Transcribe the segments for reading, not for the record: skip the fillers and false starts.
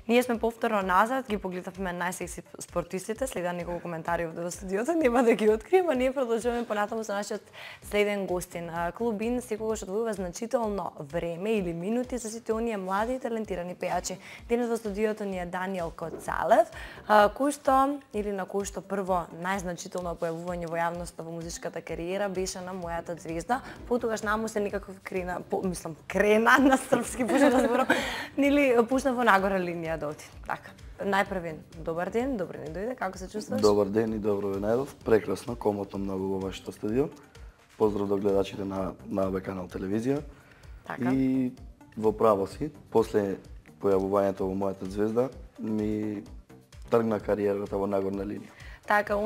Ние сме повторно назад, ги погледавме најсекси спортистите, следа неколку коментари овде во студиото, нема да ги открием, а ние продолжуваме понатаму со нашиот следен гостин. Клуб ин секогаш одвојува значително време или минути за сите оние млади и талентирани пејачи. Денес во студиото ни е Даниел Коцалев, кој што или на кој што прво најзначително појавување во јавноста во музичката кариера беше на Мојата звезда, потогаш наму се некако крена на српски пуша да зборам, нели пушна во нагора линија да оти. Така. Најпрвен, добар ден, добро ни дојде, како се чувствуваш? Добар ден и добро ве најдов. Прекрасно, комотно многу во вашето студио. Поздрав до гледачите на АБ канал телевизија. Така. И во право си, после појавувањето во Мојата звезда, ми тргна кариерата во нагорна линија. Така,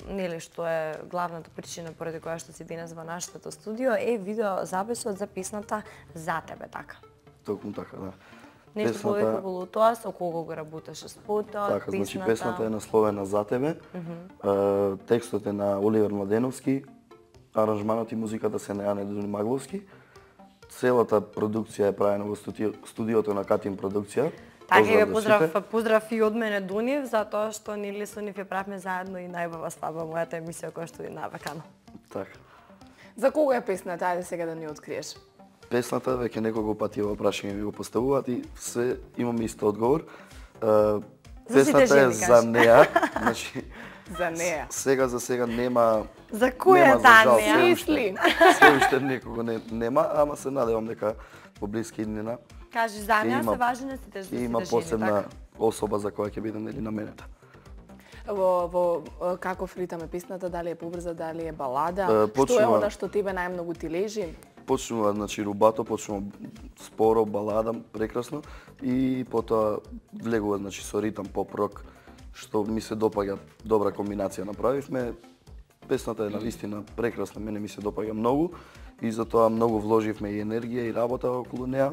нели што е главната причина поради која што си денес во нашето студио е видеозаписот за песната За тебе, така. Токму така, да. Нешто повеќе околу тоа, со кого го работеше спотот, така, значи песната е насловена За тебе. Текстот е на Оливер Младеновски, аранжманот и музиката се на Јане Дуни-Магловски. Целата продукција е правена во студиото на Катин продукција. Така ве поздрав и од мене Дунив, затоа што нели со нив ја правме заедно и најубава свадба, мојата емисија која што е на АБ канал. Така. За кого е песната? Ајде сега да ни откриеш. Песната веќе неколку пати во прашање ми го поставуваат и се имам ист одговор. Песната е за неа, значи за неа. Сега за сега нема. За која таа неа? Мисли. Се уште некого нема, ама се надевам дека во блиски иднина. Кажи за неа се важни сите жени. Има посебна особа за која ќе биде нели наменета. Во каков ритам е песната, дали е побрза, дали е балада? Што е она што тебе најмногу ти лежи? Почнува, значи, рубато, почнува споро, балада, прекрасно, и потоа влегува, значи, со ритам поп-рок, што ми се допаѓа, добра комбинација направивме. Песната е навистина прекрасна, мене ми се допаѓа многу и затоа многу вложивме и енергија и работа околу неа.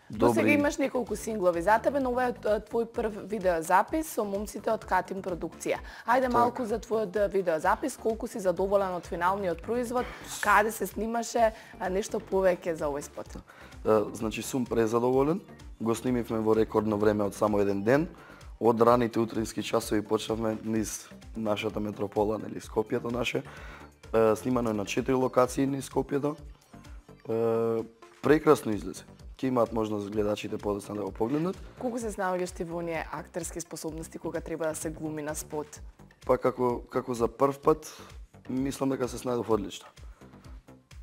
До сега имаш неколку синглови за тебе, но ова е твој прв видеозапис со момците од Катин продукција. Ајде малку за твојот видеозапис, колку си задоволен од финалниот производ, каде се снимаше, нешто повеќе за овој спот. Значи сум презадоволен, го снимивме во рекордно време од само еден ден. Од раните утрински часови почнавме низ нашата метропола, нели Скопјето наше. Снимано е на 4 локации низ Скопјето. Прекрасно излезе. Ќе имаат можност гледачите подоцна да го погледнат. Колку се снаоѓаш ти во оние актерски способности кога треба да се глуми на спот? Па како за прв пат, мислам дека се снајдов одлично.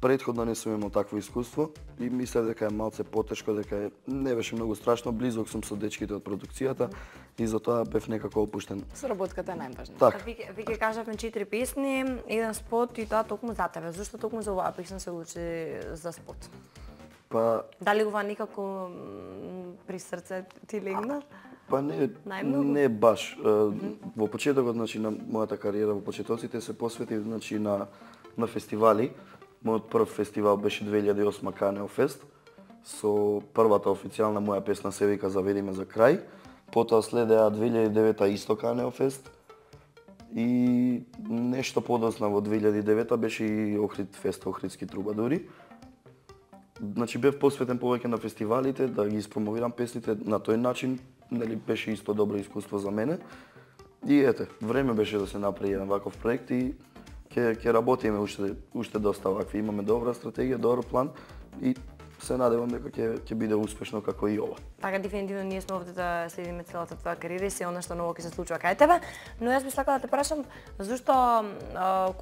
Претходно не сум имал такво искуство и мислев дека е малце потешко, дека не беше многу страшно, близок сум со дечките од продукцијата и затоа бев некако опуштен. Соработката е најважна. Така. Вие кажавме 4 песни, еден спот и тоа токму за тебе. Зошто токму за оваа песна се одлучи за спот? Па дали ова некако при срце ти легна? Па не баш. Во почетокот, значи, на мојата кариера во почетоците се посветив, значи, на фестивали. Мојот прв фестивал беше 2008 Канео Фест, со првата официјална моја песна се вика Заведи ме за крај. Потоа следеа 2009 исто Канео Фест и нешто подоцна во 2009 беше и Охрид Фест, Охридски трубадури. Значи бев посветен повеќе на фестивалите, да ги испромовирам песните на тој начин, нели беше исто добро искуство за мене. И ете, време беше да се направи еден ваков проект и ќе работиме уште доста вакви. Имаме добра стратегија, добар план и се надевам дека ќе биде успешно како и ова. Така, дефинитивно ние сме овде да следиме целата твоја кариера и се она што ново ќе се случува кај тебе, но јас би сакала да те прашам зошто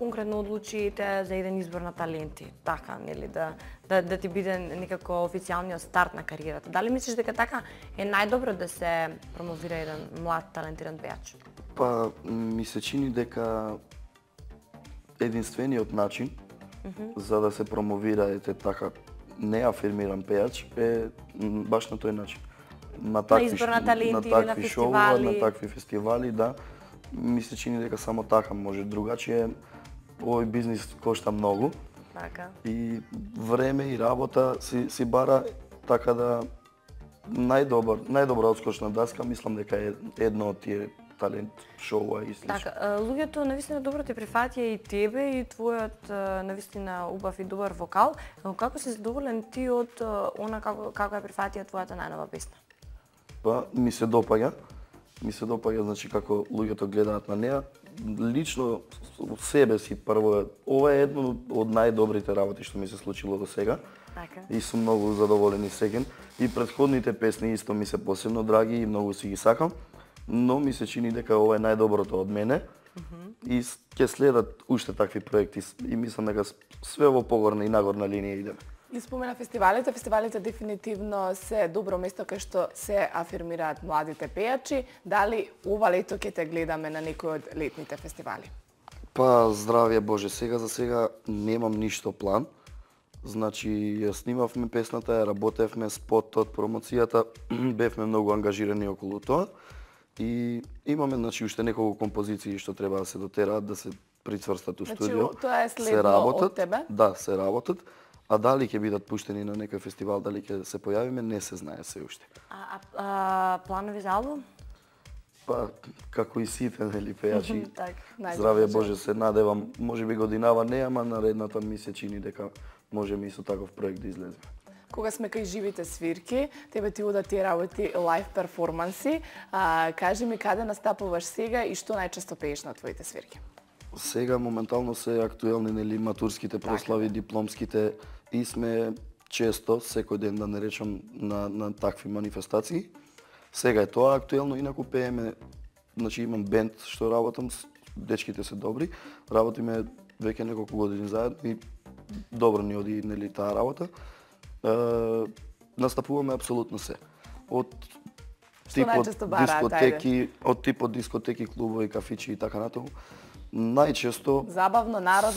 конкретно одлучите за еден избор на таленти, така, нели, да ти биде некако официјалниот старт на кариерата. Дали мислиш дека така е најдобро да се промовира еден млад талентиран пејач? Па ми се чини дека единствениот начин за да се промовира така неафирмиран пејач е баш на тој начин. На такви шоуа, на такви фестивали, да. Ми се чини дека само така може, другачие овој бизнис кошта многу. Така. И време и работа си бара, така да најдобра одскочна даска, мислам дека е едно од тие талент шоуа и слично. Така, луѓето навистина добро те прифатија и тебе и твојот навистина убав и добар вокал, но како си задоволен ти од она како е прифатија твојата најнова песна? Па, ми се допаѓа, значи, како луѓето гледаат на неа. Лично себе си прво, ова е едно од најдобрите работи што ми се случило до сега. Така. И сум многу задоволен и сеќен. И претходните песни исто ми се посебно драги и многу си ги сакам, но ми се чини дека ова е најдоброто од мене. И ќе следат уште такви проекти и мислам дека све во погорна и нагорна линија идеме. И спомена фестивалите. Фестивалите дефинитивно се добро место кај што се афирмираат младите пејачи. Дали ова лето ќе те гледаме на некој од летните фестивали? Па, здравје Боже, сега за сега немам ништо план. Значи, ја снимавме песната, ја работевме, спотот, промоцијата, бевме многу ангажирани околу тоа. И имаме, значи, уште неколку композиции што треба да се дотераат, да се прицврстат у студио. Значи, тоа е следно од тебе? Да, се работат. А дали ќе бидат пуштени на некој фестивал, дали ќе се појавиме, не се знае се уште. Планови за албум? Па, како и сите, нели, пејачи, здравје Боже, се надевам, можеби годинава не, ама наредната ми се чини дека можеме и со таков проект да излеземе. Кога сме кај живите свирки, тебе ти удат тие работи лайв перформанси. Кажи ми каде настапуваш сега и што најчесто пееш на твоите свирки? Сега моментално се актуелни, нели, матурските прослави, дипломските и сме често, секој ден да не речам, на такви манифестации. Сега е тоа актуелно, инаку пееме, значи имам бенд што работам, дечките се добри, работиме веќе неколку години заедно и добро ни оди, нели, таа работа. Настапуваме апсолутно се. Од типот дискотеки, од типот дискотеки, клубови, кафичи и така натаму. Најчесто забавно, народно,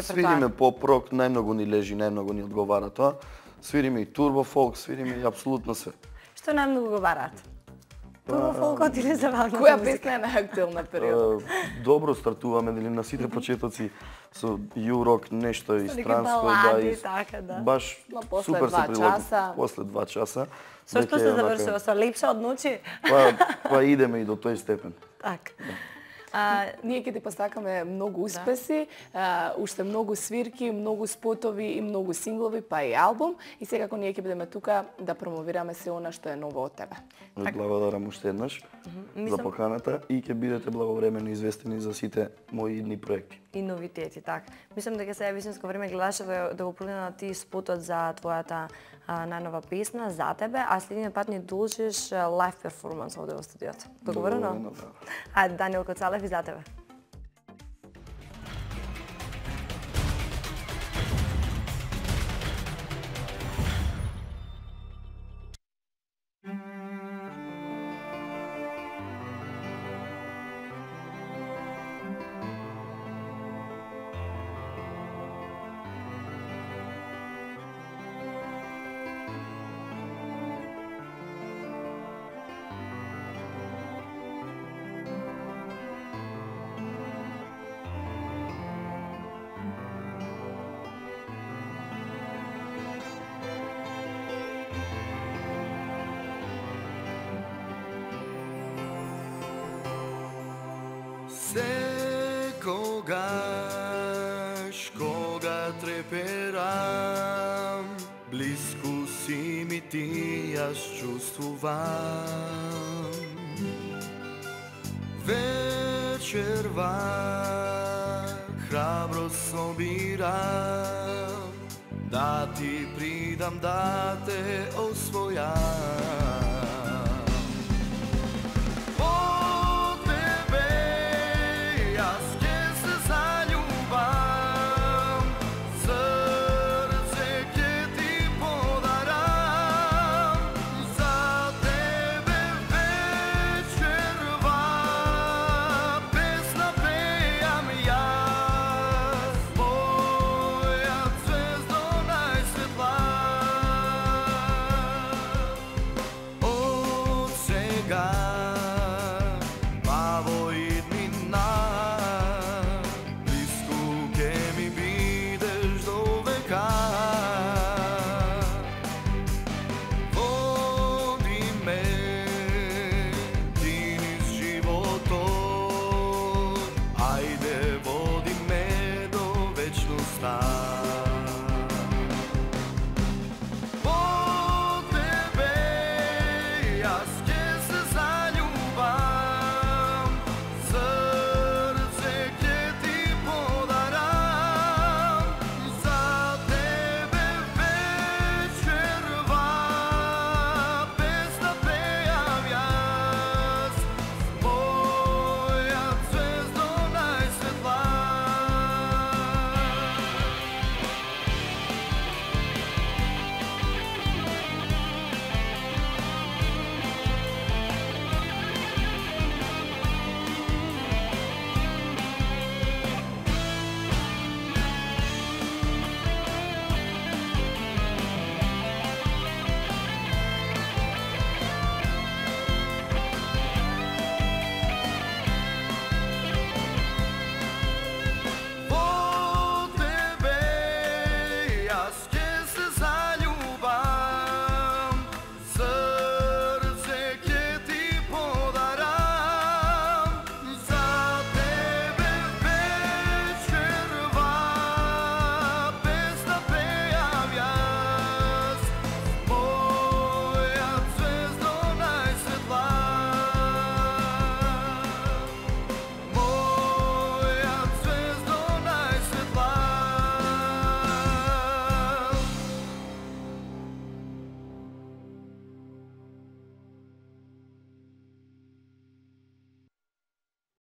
свириме поп-рок, најмногу ни лежи, најмногу ни одговара тоа. Свириме и турбо-фолк, свириме и апсолутно се. Што најмногу го бараат? Турбо-фолкот или забавна која песна е најактуелна период? Добро стартуваме, нели, на сите почетоци со ю-рок, нешто истранско, да. Баш супер се прилаги. После 2 часа. Со што се завршува? Со лепша од ночи? Па идеме и до тој степен. Така. Ние ќе ти посакаме многу успеси, уште многу свирки, многу спотови и многу синглови, па и албум. И секако ние ќе бидеме тука да промовираме се она што е ново од тебе. Благодарам уште еднаш за поканата и ќе бидете благовремено известени за сите мои идни проекти. И новитети, така. Мислам дека сега е вистинско време гледаше да го прогледнат ти спотот за твојата најнова песна за тебе, а следниот пат ни должиш лайв перформанс овде во студиото. Договорено? Ајде, Даниел Коцалев и за тебе. Секогаш кога треперам, близко си ми ти, јас чувствувам. Вечерва храбро собирам, да ти придам, да те освојам.